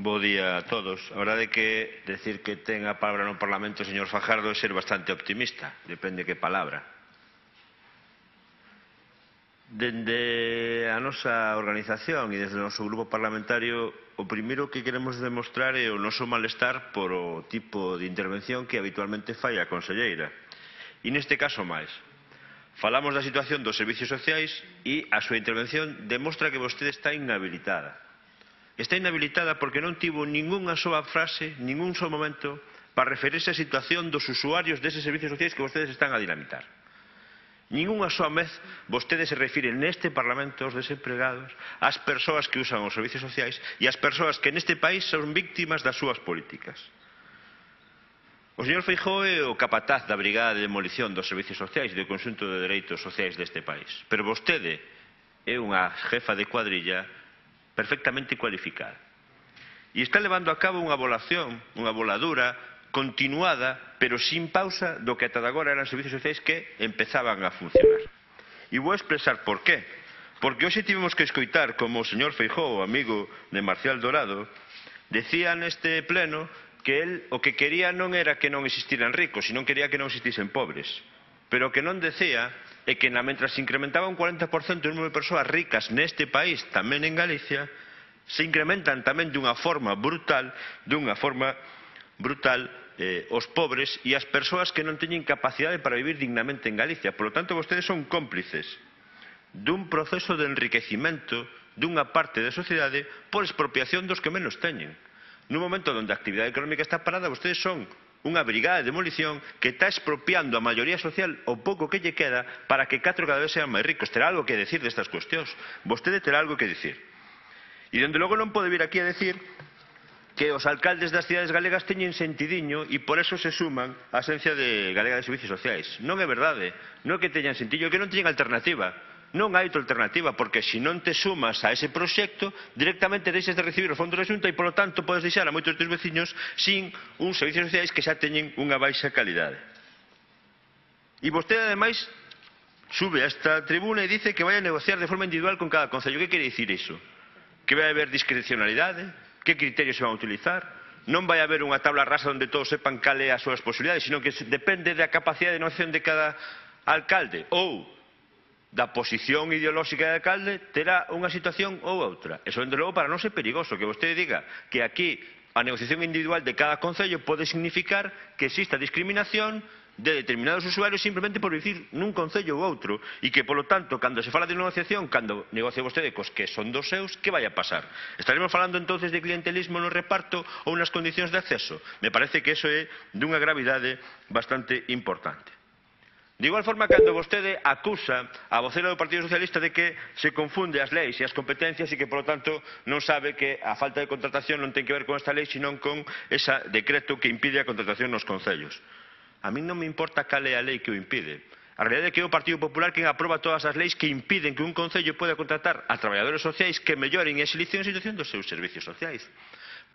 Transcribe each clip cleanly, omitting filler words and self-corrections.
Bo día a todos. A verdade é que decir que ten a palabra no Parlamento o señor Fajardo é ser bastante optimista. Depende que palabra. Dende a nosa organización e desde o noso grupo parlamentario, o primeiro que queremos demostrar é o noso malestar por o tipo de intervención que habitualmente fai a conselleira. E neste caso máis. Falamos da situación dos servicios sociais e a súa intervención demostra que vostede está inhabilitada. Está inhabilitada porque non tivo ningunha soa frase, ningún só momento para referirse á situación dos usuarios deses servicios sociais que vostedes están a dinamitar. Ningunha soa vez vostedes se refiren neste Parlamento aos desempregados, ás persoas que usan os servicios sociais e ás persoas que neste país son víctimas das súas políticas. O señor Feijóo é o capataz da Brigada de Demolición dos Servicios Sociais e do conxunto de dereitos sociais deste país. Pero vostede é unha jefa de cuadrilla perfectamente cualificada. E está levando a cabo unha voladura continuada, pero sin pausa, do que ata agora eran servicios sociais que empezaban a funcionar. E vou expresar por qué. Porque hoxe tivemos que escoitar como o señor Feijóo, amigo de Marcial Dorado, decía neste pleno que el o que quería non era que non existiran ricos, sino quería que non existisen pobres. Pero o que non decía é que mentras se incrementaba un 40% o número de persoas ricas neste país, tamén en Galicia, se incrementan tamén dunha forma brutal os pobres e as persoas que non teñen capacidade para vivir dignamente en Galicia. Por lo tanto, vostedes son cómplices dun proceso de enriquecimento dunha parte da sociedade por expropiación dos que menos teñen. Nun momento onde a actividade económica está parada, vostedes son unha brigada de demolición que está expropiando a maioría social o pouco que lle queda para que catro cada vez sean máis ricos. Terá algo que decir destas cuestións. Vostede terá algo que decir. E, dende logo, non pode vir aquí a decir que os alcaldes das cidades galegas teñen sentidiño e por eso se suman á Axencia Galega de Servicios Sociais. Non é verdade. Non é que teñan sentido, é que non teñen alternativa. Non hai outra alternativa, porque se non te sumas a ese proxecto, directamente deixas de recibir os fondos da Xunta e, polo tanto, podes deixar a moitos dos veciños sin uns servicios sociais que xa teñen unha baixa calidade. E vostede, ademais, sube a esta tribuna e dice que vai a negociar de forma individual con cada concello. Que quere dicir iso? Que vai haber discrecionalidade? Que criterios se van a utilizar? Non vai haber unha tabla rasa onde todos sepan cal é as súas posibilidades, sino que depende da capacidade de negociación de cada alcalde ou da posición ideolóxica de alcalde, terá unha situación ou outra. Eso, dende logo, para non ser perigoso, que vostede diga que aquí a negociación individual de cada concello pode significar que exista discriminación de determinados usuarios simplemente por vivir nun concello ou outro e que, polo tanto, cando se fala de negociación, cando negocia vostede cos que son dos seus, que vai a pasar? Estaremos falando entonces de clientelismo no reparto ou nas condicións de acceso? Me parece que iso é dunha gravidade bastante importante. De igual forma, cando vostede acusa a vocera do Partido Socialista de que se confunde as leis e as competencias e que, polo tanto, non sabe que a falta de contratación non ten que ver con esta lei, senón con ese decreto que impide a contratación nos concellos. A mí non me importa cal é a lei que o impide. A realidade é que é o Partido Popular quen aproba todas as leis que impiden que un concello poida contratar a traballadores sociais que melloren e axelicen a situación dos seus servicios sociais.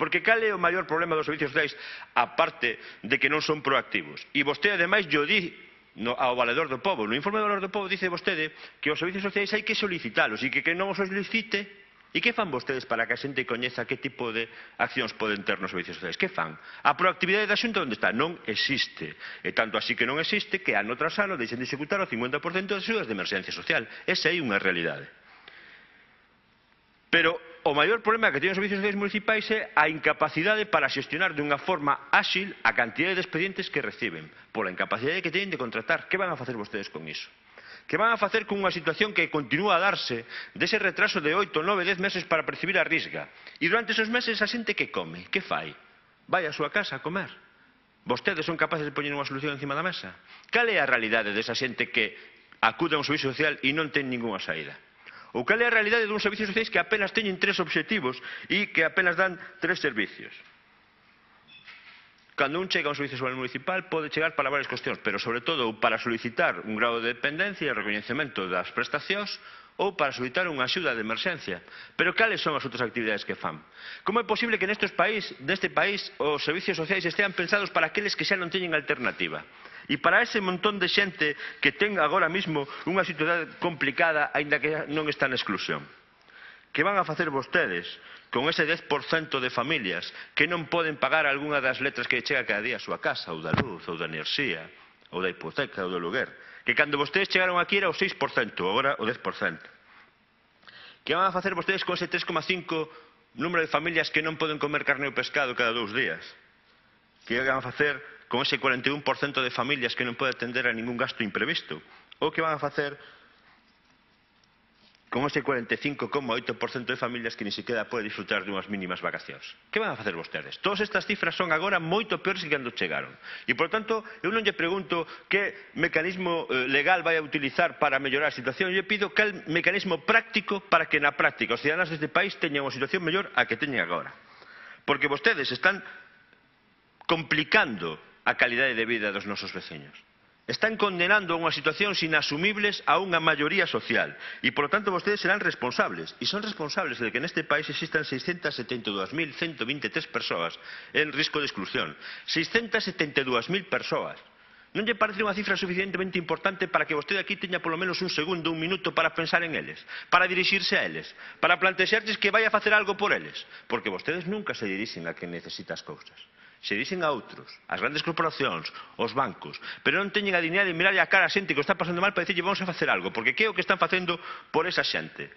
Porque cal é o maior problema dos servicios sociais, aparte de que non son proactivos? E vostede, ademais, yo di ao Valedor do Pobo. No informe do Valedor do Pobo dice vostede que os servicios sociais hai que solicitalos e que non os solicite. E que fan vostedes para que a xente coñeza que tipo de accións poden ter nos servicios sociais? Que fan? A proactividade da Xunta onde está? Non existe. E tanto así que non existe que ano tras ano deixen de executar o 50% das axudas de emerxencia social. Esa é unha realidade. Pero o maior problema que teñen os servicios sociais municipais é a incapacidade para xestionar dunha forma áxil a cantidade de expedientes que reciben, pola incapacidade que teñen de contratar. Que van a facer vostedes con iso? Que van a facer con unha situación que continúa a darse dese retraso de 8, 9, 10 meses para percibir a risga? E durante esos meses a xente que come? Que fai? Vai á súa casa a comer? Vostedes son capaces de poñer unha solución encima da mesa? Cal é a realidade desa xente que acude a un servicio social e non ten ningunha saída? Ou cal é a realidade dun servicio sociais que apenas teñen 3 obxectivos e que apenas dan 3 servicios? Cando un chega a un servicio social municipal pode chegar para varias cuestións, pero sobre todo para solicitar un grado de dependencia e recoñecemento das prestacións ou para solicitar unha axuda de emerxencia. Pero cales son as outras actividades que fan? Como é posible que neste país os servicios sociais estean pensados para aqueles que xa non teñen alternativa? E para ese montón de xente que ten agora mesmo unha situación complicada, aínda que non está na exclusión. Que van a facer vostedes con ese 10% de familias que non poden pagar algunha das letras que chega cada día a súa casa, ou da luz, ou da enerxía, ou da hipoteca, ou do luguer? Que cando vostedes chegaron aquí era o 6%, agora o 10%. Que van a facer vostedes con ese 3,5 número de familias que non poden comer carne ou pescado cada 2 días? Que van a facer con ese 41% de familias que non poden atender a ningún gasto imprevisto? Ou que van a facer con ese 45,8% de familias que ni siquiera pode disfrutar de unhas mínimas vacacións? Que van a facer vostedes? Todas estas cifras son agora moito peores que cando chegaron. E, por tanto, eu non lle pregunto que mecanismo legal vai a utilizar para mellorar a situación. Eu lle pido que mecanismo práctico para que na práctica os cidadáns deste país teñan unha situación mellor a que teñen agora. Porque vostedes están complicando a calidade de vida dos nosos veciños. Están condenando a unhas situacións inasumibles a unha maioría social e, por lo tanto, vostedes serán responsables. E son responsables de que neste país existan 672.123 persoas en risco de exclusión. 672.000 persoas. Non lle parece unha cifra suficientemente importante para que vostede aquí teña polo menos un segundo, un minuto para pensar en eles, para dirixirse a eles, para plantexarles que vai a facer algo por eles? Porque vostedes nunca se dirixen a quen necesita as cousas. Se dixen a outros, as grandes corporacións, os bancos, pero non teñen a dignidade de mirar a cara a xente que o está pasando mal para dicirlle vamos a facer algo, porque que é o que están facendo por esa xente?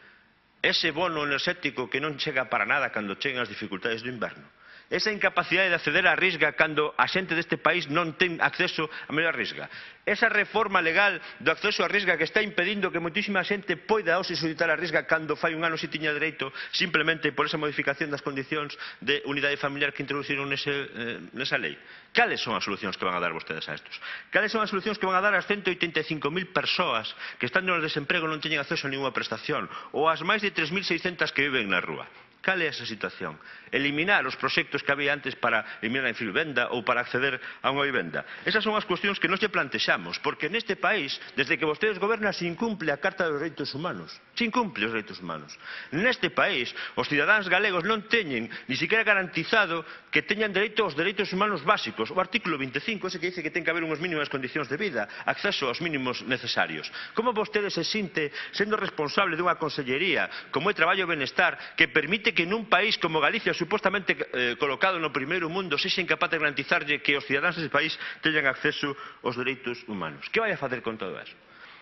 Ese bono enerxético que non chega para nada cando chegan as dificultades do inverno. Esa incapacidade de acceder á risga cando a xente deste país non ten acceso a mellor risga. Esa reforma legal do acceso á risga que está impedindo que moitísima xente poida hoxe solicitar a risga cando fai un ano si tiña dereito simplemente por esa modificación das condicións de unidade familiar que introduciron nesa lei. Cales son as solucións que van a dar vostedes a estos? Cales son as solucións que van a dar ás 185.000 persoas que están no desemprego e non teñen acceso a ninguna prestación? Ou ás máis de 3.600 que viven na rúa? Cal é esa situación? Eliminar os proxectos que había antes para eliminar a infravivenda ou para acceder a unha vivenda. Esas son as cuestións que nos lle plantexamos, porque neste país, desde que vostedes gobernan, se incumple a Carta dos Dereitos Humanos. Se incumple os dereitos humanos. Neste país, os cidadáns galegos non teñen ni siquiera garantizado que teñan dereito aos dereitos humanos básicos. O artículo 25, ese que dice que ten que haber unhas mínimas condicións de vida, acceso aos mínimos necesarios. Como vostede se sinte sendo responsable dunha consellería como é Traballo e Benestar que permite que nun país como Galicia, supostamente colocado no primeiro mundo, sexa incapaz de garantizarlle que os cidadáns dese país teñan acceso aos dereitos humanos? Que vai a facer con todo eso?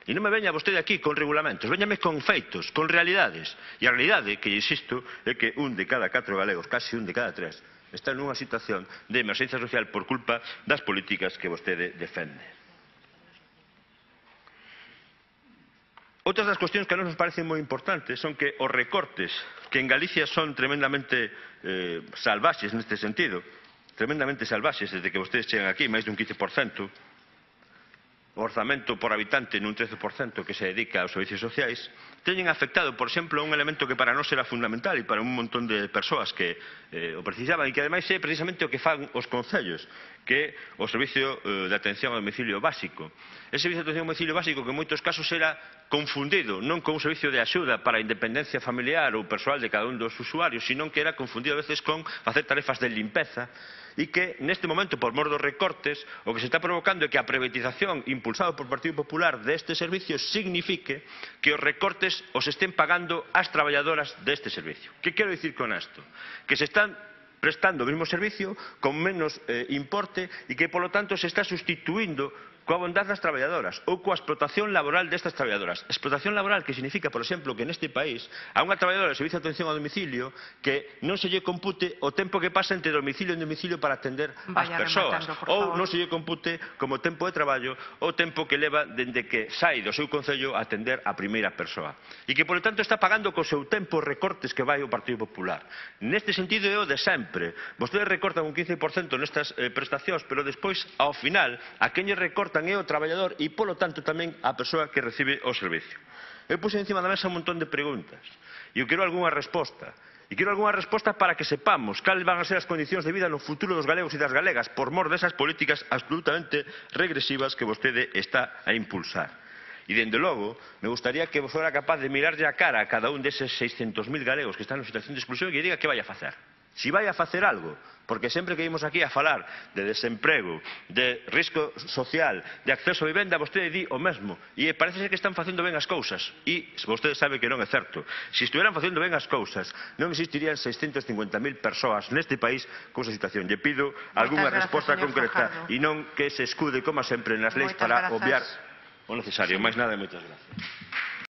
E non me veña vostede aquí con regulamentos, véñame con feitos, con realidades. E a realidade, que insisto, é que un de cada 4 galegos, casi un de cada 3, está nunha situación de emerxencia social por culpa das políticas que vostede defende. Outras das cuestións que a nos parecen moi importantes son que os recortes, que en Galicia son tremendamente salvaxes neste sentido, tremendamente salvaxes desde que vostedes chegan aquí, máis dun 15%, o orzamento por habitante nun 13% que se dedica aos servicios sociais, teñen afectado, por exemplo, un elemento que para nós era fundamental e para un montón de persoas que o precisaban e que ademais é precisamente o que fan os concellos, que é o servicio de atención ao domicilio básico. Ese servicio de atención ao domicilio básico que en moitos casos era confundido non con un servicio de axuda para a independencia familiar ou persoal de cada un dos usuarios, sino que era confundido a veces con facer tarefas de limpeza e que neste momento, por mor dos recortes, o que se está provocando é que a privatización impulsada por Partido Popular deste servicio signifique que os recortes os estén pagando as traballadoras deste servicio. Que quero dicir con isto? Que se están prestando o mesmo servicio con menos importe e que, polo tanto, se está sustituindo coa bondade das traballadoras ou coa explotación laboral destas traballadoras. Explotación laboral que significa, por exemplo, que neste país a unha traballadora de servicio de atención ao domicilio que non se lle compute o tempo que pasa entre domicilio e domicilio para atender as persoas, ou non se lle compute como tempo de traballo o tempo que leva dende que sai do seu concello a atender a primeira persoa. E que, por tanto, está pagando co seu tempo os recortes que vai o Partido Popular. Neste sentido é o de sempre. Vostedes recortan un 15% nestas prestacións, pero despois, ao final, a quen lle recortan é o traballador e, polo tanto, tamén a persoa que recibe o servicio. Eu puse encima da mesa un montón de preguntas e eu quero algunha resposta. E quero algunha resposta para que sepamos cales van a ser as condicións de vida no futuro dos galegos e das galegas por mor desas políticas absolutamente regresivas que vostede está a impulsar. E, dende logo, me gustaría que fora capaz de mirarlle a cara a cada un deses 600.000 galegos que están en situación de exclusión e que diga que vai a facer. Si vai a facer algo, porque sempre que vimos aquí a falar de desemprego, de risco social, de acceso a vivenda, vostede di o mesmo. E parece ser que están facendo ben as cousas. E vostede sabe que non é certo. Se estuveran facendo ben as cousas, non existirían 650.000 persoas neste país con esa situación. Lle pido algunha resposta concreta e non que se escude, como sempre, nas leis para obviar o necesario. Máis nada e moitas gracias.